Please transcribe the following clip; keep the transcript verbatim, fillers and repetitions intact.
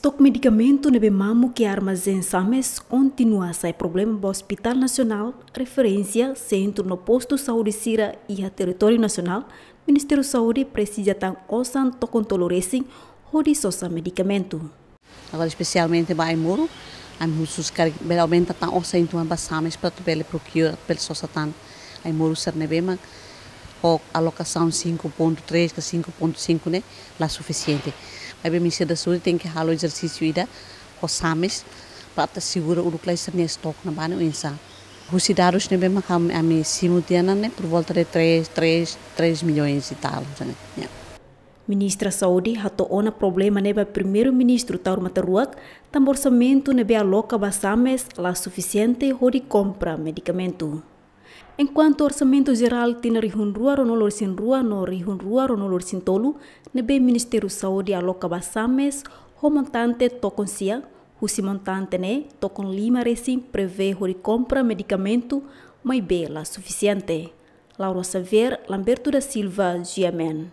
Stok medikamentu ne'ebé mamuk iha armazén SAMES kontinua sai problema ba Hospital Nasionál, referénsia, sentru no postu saúde sira iha territóriu nasionál. Ministériu Saúde presiza tan osan tokon tolu resin hodi sosa medikamentu. Agora, espesialmente ba Aimoro, ami husu karik bele aumenta tan osan uitoan ba SAMES para atu bele procure, bele sosa tan Aimoro sira ne'ebé mak ho alokasaun cinco ponto três ka cinco ponto cinco ne'e la sufisiente. Maibé Ministériu da Saúde tenke halo ezersísiu ida ho SAMES para atu asegura uluk lai sira-nia stok ne'ebá ne'e oinsá. Husi dadus ne'ebé mak ami, ami simu tiha ona ne'e por volta de três, três, três milhões e tal, ne'e. Ya. Ministra Saúde hato'o ona problema ne'e ba Primeiru-Ministru Taur Matan Ruak, tanba orsamentu ne'ebé aloka ba SAMES la sufisiente hodi kompra medikamentu. Enkuantu orsamentu jerál tinan rihun rua ruanulu resin rua no rihun rua ruanulu resin tolu ne'ebé Ministériu Saúde aloka ba SAMES ho montante tokon sia, husi montante ne'e tokon lima resin prevee hodi kompra medikamentu, maibé la sufisiente. Laura Xavier, Lamberto da Silva, G M N.